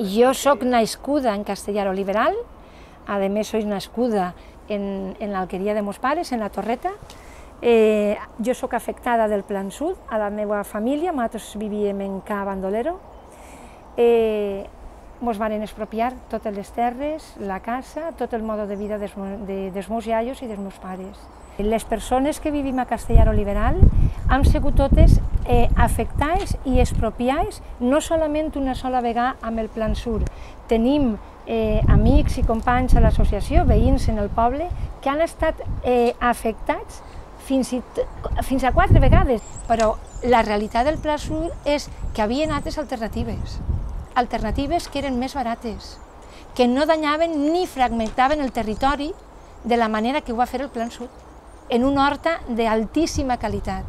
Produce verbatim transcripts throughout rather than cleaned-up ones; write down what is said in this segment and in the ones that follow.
yo soy nascuda en Castellar Oliveral, además soy nascuda en, en l'Alqueria de mos pares, en la Torreta. Eh, jo sóc afectada del Plan Sud, a la meva família, nosaltres vivíem en Ca Bandolero. Eh, mos van expropiar totes les terres, la casa, tot el mode de vida dels, de, dels meus iaios i dels meus pares. Les persones que vivim a Castellar Oliveral hem sigut totes eh, afectades i expropiades, no solament una sola vegada amb el Plan Sur. Tenim eh, amics i companys a l'associació, veïns en el poble, que han estat eh, afectats fins, i, fins a quatre vegades. Però la realitat del Pla Sur és que hi havia altres alternatives, alternatives que eren més barates, que no danyaven ni fragmentaven el territori de la manera que ho va fer el Plan Sud, en una horta d'altíssima qualitat.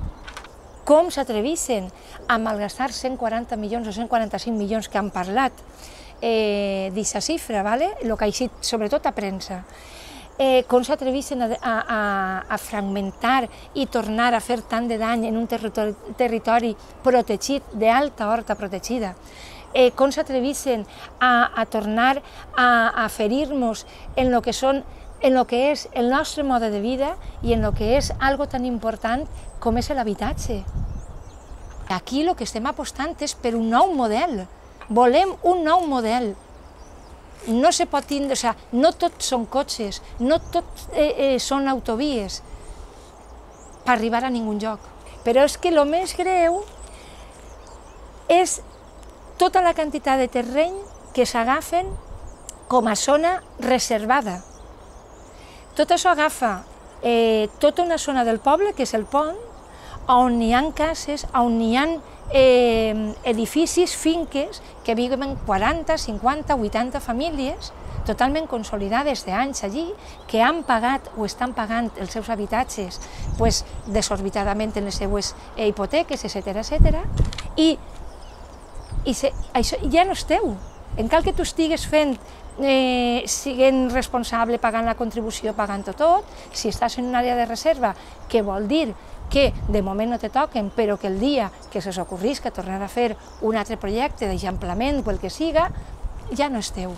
Com s'atreveixen a malgastar cent quaranta milions o cent quaranta-cinc milions que han parlat eh, d'aquesta xifra, ¿vale? El que ha eixit sobretot a premsa. Eh, com s'atreveixen a, a, a fragmentar i tornar a fer tant de dany en un territori, territori protegit, d'alta horta protegida. Eh, com s'atreveixen a, a tornar a, a ferir-nos en lo que són en el que és el nostre mode de vida i en el que és algo tan important com és l'habitatge. Aquí el que estem apostant és per un nou model. Volem un nou model. No se pot tindre, o sigui, no tot són cotxes, no tot eh, eh, són autovies per arribar a ningú lloc. Però és que el més greu és tota la quantitat de terreny que s'agafen com a zona reservada. Tot això agafa eh, tota una zona del poble, que és el pont, on hi ha cases, on hi ha eh, edificis, finques, que viuen quaranta, cinquanta, vuitanta famílies, totalment consolidades d'anys allí, que han pagat o estan pagant els seus habitatges pues, desorbitadament en les seues eh, hipoteques, etcètera, etcètera, i, i se, això ja no és teu. En cal que tu estigues fent Eh, siguent responsable, pagant la contribució, pagant-ho tot, si estàs en una àrea de reserva, que vol dir que de moment no te toquen, però que el dia que se s'ocorrisca tornar a fer un altre projecte d'eixamplament o el que siga, ja no és teu.